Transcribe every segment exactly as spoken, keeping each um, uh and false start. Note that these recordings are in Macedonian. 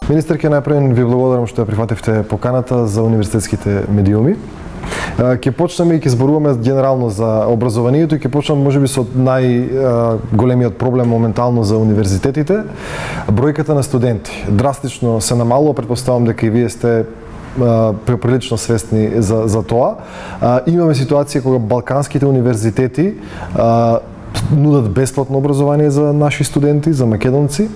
Министерке, најпред ви благодарам што ја прифативте поканата за универзитетските медиуми. Ќе почнеме и ќе зборуваме генерално за образованието и ќе почнеме можеби со најголемиот проблем моментално за универзитетите, бројката на студенти. Драстично се намалува, претпоставам дека и вие сте прилично свесни за, за тоа. Имаме ситуација кога балканските универзитети нудат бесплатно образование за наши студенти, за македонци,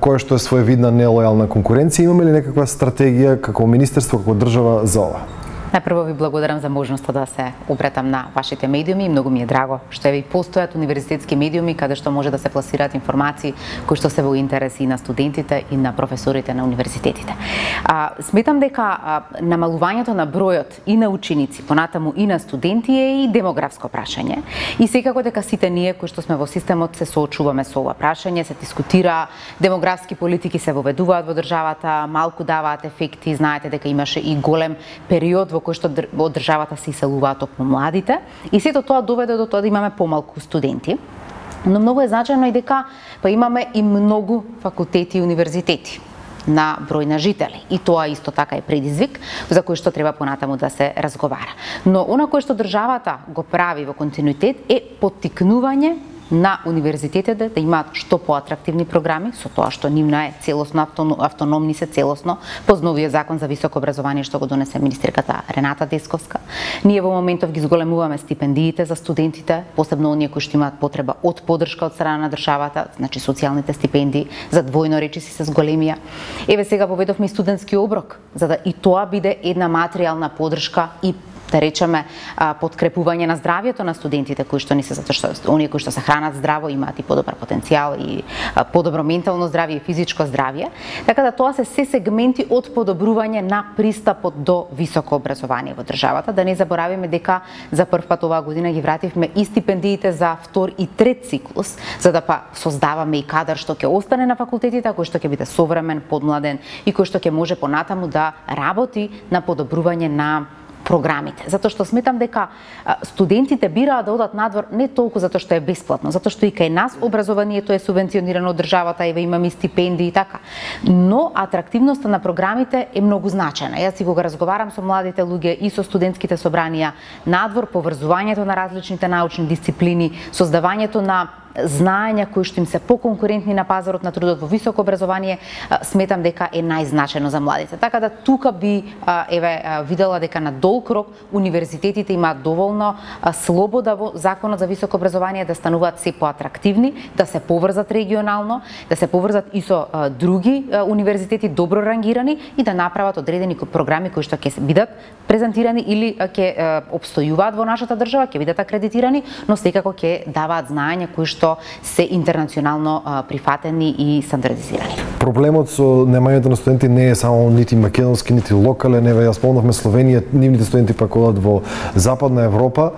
кое што е своевидна нелојална конкуренција. Имаме ли некаква стратегија како министерство, како држава за ова? Најпрво ви благодарам за можноста да се обретам на вашите медиуми и многу ми е драго што ви постојат универзитетски медиуми каде што може да се пласираат информации кои што се во интерес и на студентите и на професорите на универзитетите. А, сметам дека а, намалувањето на бројот и на ученици, понатаму и на студенти е и демографско прашање. И секако дека сите ние кои што сме во системот се соочуваме со ова прашање, се дискутира, демографски политики се воведуваат во државата, малку даваат ефекти, знаете дека имаше и голем период во кој што од државата се иселуваат токму младите, и сето тоа доведе до тоа да имаме помалку студенти. Но многу е значајно и дека па имаме и многу факултети и универзитети на број на жители. И тоа исто така е предизвик за кој што треба понатаму да се разговара. Но она кое што државата го прави во континуитет е поттикнување на универзитетите да имаат што поатрактивни програми, со тоа што нивна е целосно автономни се целосно по новиот закон за високо образование што го донесе министерката Рената Десковска. Ние во моментов ги зголемуваме стипендиите за студентите, посебно оние кои што имаат потреба од поддршка од страна на државата, значи социјалните стипендии за двојно речиси се зголемија. Еве сега поведовме и студентски оброк, за да и тоа биде една материјална поддршка и да речеме подкрепување на здравјето на студентите кои што не се затоа што оние кои што се хранат здраво имаат и подобар потенцијал и подобро ментално здравје и физичко здравје. Така да тоа се се сегменти од подобрување на пристапот до високо образование во државата. Да не заборавиме дека за прв пат оваа година ги вративме и стипендиите за втор и трет циклус, за да па создаваме и кадар што ќе остане на факултетите, кој што ќе биде современ, подмладен и кој што ќе може понатаму да работи на подобрување на програмите. Затоа што сметам дека студентите бираат да одат надвор не толку затоа што е бесплатно, затоа што и кај нас образованието е субвенционирано од државата, еве имаме стипендии и така. Но атрактивноста на програмите е многу значајна. Јас си го разговарам со младите луѓе и со студентските собранија надвор, поврзувањето на различните научни дисциплини, создавањето на знаења кои што им се поконкурентни на пазарот на трудот во високо образование, сметам дека е најзначајно за младите. Така да тука би еве видела дека на долг рок универзитетите имаат доволно слобода во законот за високо образование да стануваат се поатрактивни, да се поврзат регионално, да се поврзат и со други универзитети добро рангирани и да направат одредени програми кои што ќе бидат презентирани или ќе опстојуваат во нашата држава, ќе бидат акредитирани, но секако ќе даваат знаења кои што се интернационално прифатени и стандардизирани. Проблемот со немањето на студенти не е само нити македонски, нити локален. Еве ја спомнавме Словенија, нивните студенти пак одат во Западна Европа.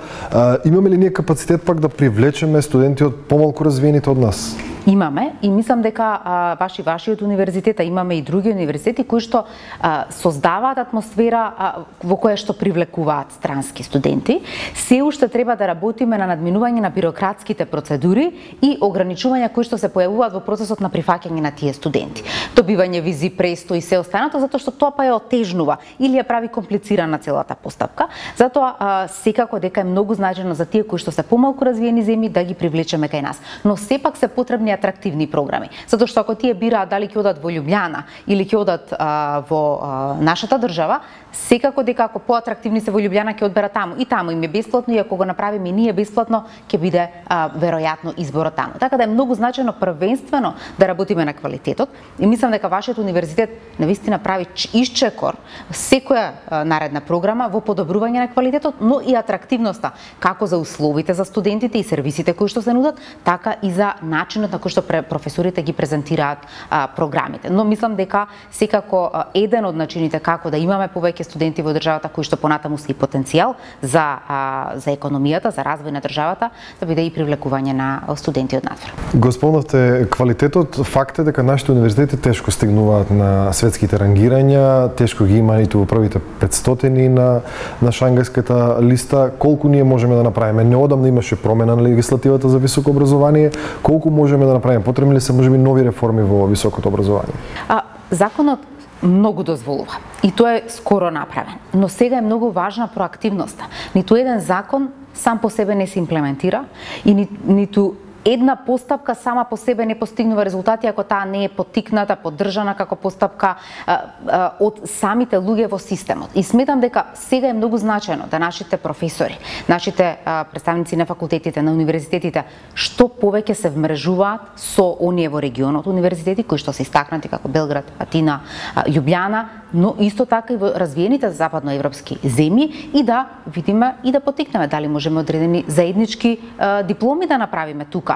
Имаме ли ние капацитет пак да привлечеме студенти од помалку развиените од нас? Имаме и мислам дека а, ваши вашиот универзитет, а имаме и други универзитети кои што а, создаваат атмосфера а, во која што привлекуваат странски студенти. Се уште треба да работиме на надминување на бирократските процедури и ограничувања кои што се појавуваат во процесот на прифаќање на тие студенти. Добивање визи, престо и се останато, затоа што тоа па ја отежнува или ја прави комплицирана целата постапка. Затоа а, секако дека е многу значајно за тие кои што се помалку развиени земји да ги привлечеме кај нас. Но сепак се потребни атрактивни програми. Затоа што ако тие бираат дали ќе одат во Љубљана или ќе одат а, во а, нашата држава, секако дека ако поатрактивни се во Љубљана ќе одберат таму. И таму им е бесплатно и ако го направиме и ние бесплатно, ќе биде а, веројатно изборот таму. Така да е многу значајно првенствено да работиме на квалитетот и мислам дека вашиот универзитет навистина прави исчекор секоја а, наредна програма во подобрување на квалитетот, но и атрактивноста како за условите за студентите и сервисите кои што се нудат, така и за начинот на кој што професорите ги презентираат а, програмите. Но мислам дека секако а, еден од начините како да имаме повеќе студенти во државата кои што понатаму се и потенцијал за а, за економијата, за развој на државата, да биде и привлекување на студенти од надвор. Го спомнавте квалитетот, факт е дека нашите универзитети тешко стигнуваат на светските рангирања, тешко ги има ниту во првите петстотини на на Шангајската листа. Колку ние можеме да направиме? Неодамна имаше промена на легислативата за високо образование. Колку можеме да направиме? Потребни ли се можеби нови реформи во високото образование? А, законот многу дозволува и тоа е скоро направен, но сега е многу важна проактивноста. Ниту еден закон сам по себе не се имплементира и ни, ниту една постапка сама по себе не постигнува резултати ако таа не е поттикната, поддржана како постапка а, а, од самите луѓе во системот. И сметам дека сега е многу значајно да нашите професори, нашите а, представници на факултетите, на универзитетите, што повеќе се вмрежуваат со оние во регионот универзитети кои што се истакнати како Белград, Атина, а, Љубљана, но исто така и во развиените западноевропски земји и да видиме и да поттикнеме дали можеме одредени заеднички а, дипломи да направиме тука.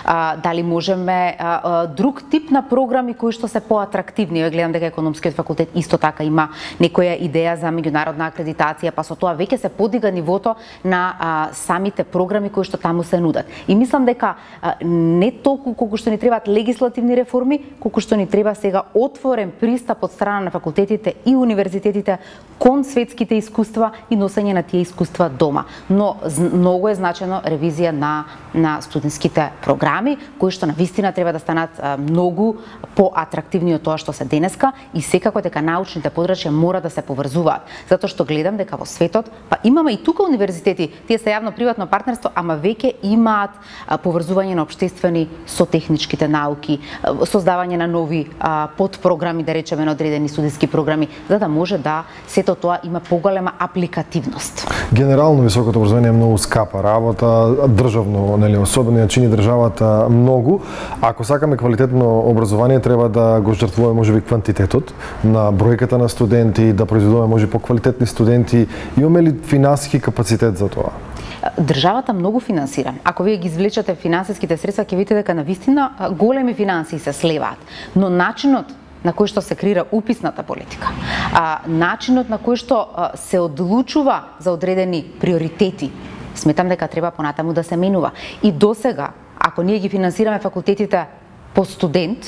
А, дали можеме а, а, друг тип на програми кои што се поатрактивни. Ја гледам дека економскиот факултет исто така има некоја идеја за меѓународна акредитација, па со тоа веќе се подига нивото на а, самите програми кои што таму се нудат. И мислам дека а, не толку колку што ни требаат легислативни реформи, колку што ни треба сега отворен пристап од страна на факултетите и универзитетите кон светските искуства и носење на тие искуства дома. Но многу е значено ревизија на на студентските програми, кои што навистина треба да станат а, многу поатрактивни од тоа што се денеска и секако дека научните подрачја мора да се поврзуваат. Затоа што гледам дека во светот, па имаме и тука универзитети, тие се јавно-приватно партнерство, ама веќе имаат а, поврзување на општествени со техничките науки, а, создавање на нови а, подпрограми, да речеме, на одредени студентски програми, за да може да сето тоа има поголема апликативност. Генерално високото образование е многу скапа работа, државно, нели, особено ја чини државата многу. Ако сакаме квалитетно образование, треба да го жртвуваме можеби квантитетот на бројката на студенти, да произведуваме може поквалитетни студенти. Имаме ли финансиски капацитет за тоа? Државата многу финансира. Ако вие ги извлечете финансиските средства, ќе видите дека навистина големи финансии се слеваат, но начинот на кој што се креира уписната политика, а, начинот на кој што а, се одлучува за одредени приоритети, сметам дека треба понатаму да се менува. И досега, ако ние ги финансираме факултетите по студент,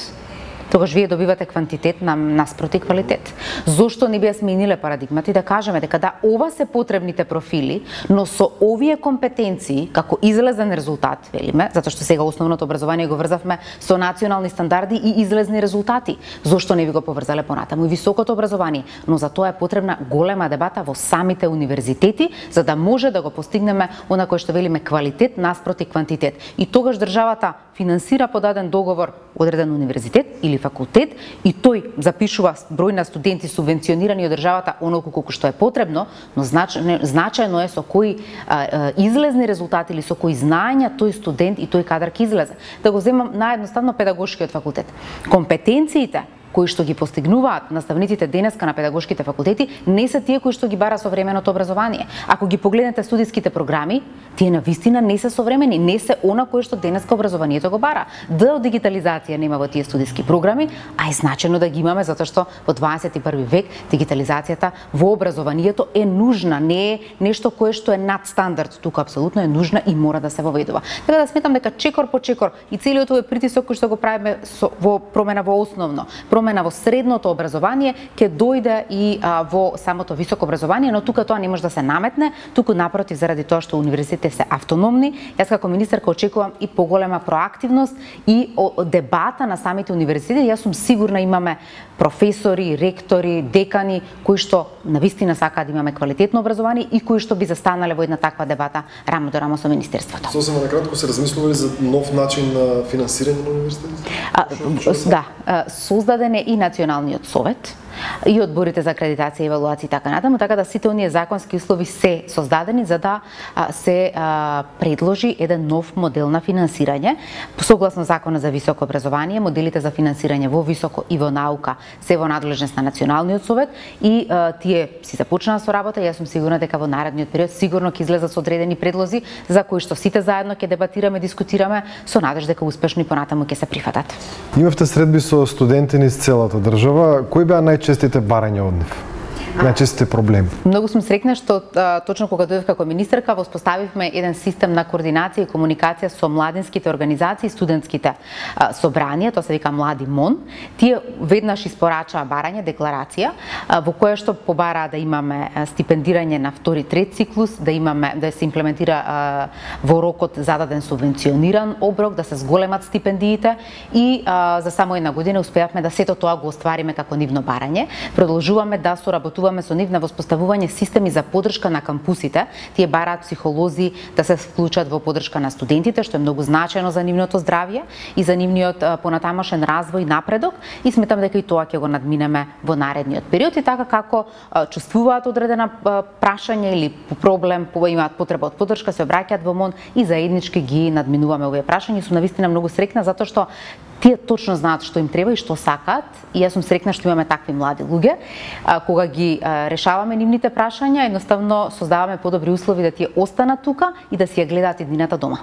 тогаш вие добивате квантитет на наспроти квалитет. Зошто не би ја смениле парадигмата и да кажеме дека да, ова се потребните профили, но со овие компетенции, како излезен резултат, велиме, затоа што сега основното образование го врзавме со национални стандарди и излезни резултати. Зошто не би го поврзале понатаму и високото образование? Но за тоа е потребна голема дебата во самите универзитети, за да може да го постигнеме она кој што велиме квалитет наспроти квантитет. И тогаш државата финансира по даден договор одреден универзитет или факултет и тој запишува број на студенти субвенционирани од државата онолку колку што е потребно, но значајно, значајно е со кои а, а, излезни резултати или со кои знаења тој студент и тој кадар ќе излезе. Да го земам наедноставно педагошкиот факултет. Компетенциите кои што ги постигнуваат наставниците денеска на педагошките факултети не се тие кои што ги бара современото образование. Ако ги погледнете студиските програми, тие навистина не се современи, не се она кое што денеска образованието го бара. Д од дигитализација нема во тие студиски програми, а е значено да ги имаме затоа што во дваесет и први век дигитализацијата во образованието е нужна, не е нешто кое што е надстандард, тука апсолутно е нужна и мора да се воведува. Така да сметам дека чекор по чекор и целиот овој притисок кој што го правиме со, во промена во основно, промена во средното образование ќе дојде и а, во самото високо образование, но тука тоа не може да се наметне, туку напротив заради тоа што универзитетите се автономни. Јас како министерка очекувам и поголема проактивност и о, дебата на самите универзитети. Јас сум сигурна имаме професори, ректори, декани кои што навистина сакаат да имаме квалитетно образование и кои што би застанале во една таква дебата рамо до рамо со министерството. Сосема накратко се размислували за нов начин на финансирање на универзитетите? А, да, создаден е и Националниот совет и одборите за акредитација и евалуација и така натаму, така да сите оние законски услови се создадени за да а, се а, предложи еден нов модел на финансирање. Согласно Законот за високо образование, моделите за финансирање во високо и во наука се во надлежност на Националниот совет и а, тие си започнаа со работа. Јас сум сигурна дека во наредниот период сигурно ќе излезат со одредени предлози за кои што сите заедно ќе дебатираме, дискутираме со надежда дека успешно и понатаму ќе се прифатат. Имавте средби со студенти низ целата држава. Кои беа најчестите барања од нив? најчестите проблеми? Многу сум среќна што а, точно кога дојдов како министерка воспоставивме еден систем на координација и комуникација со младинските организации и студентските а, собранија, тоа се вика Млади МОН. Тие веднаш испорачаа барање декларација а, во која што побараа да имаме стипендирање на втори трет циклус, да имаме да се имплементира а, во рокот зададен субвенциониран оброк, да се зголемат стипендиите и а, за само една година успеавме да сето тоа го оствариме како нивно барање. Продолжуваме да соработуваме со нив на воспоставување системи за поддршка на кампусите. Тие бараат психолози да се вклучат во поддршка на студентите, што е многу значајно за нивното здравје и за нивниот понатамошен развој и напредок, и сметам дека и тоа ќе го надминеме во наредниот период. И така како чувствуваат одредена прашање или проблем, имаат потреба од поддршка, се обраќаат во МОН и заеднички ги надминуваме овие прашања. Сум навистина многу среќна затоа што тие точно знаат што им треба и што сакаат, и јас сум среќна што имаме такви млади луѓе. А, кога ги а, решаваме нивните прашања, едноставно создаваме подобри услови да тие останат тука и да си ја гледаат иднината дома.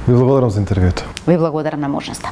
Ви благодарам за интервјуто. Ви благодарам на можноста.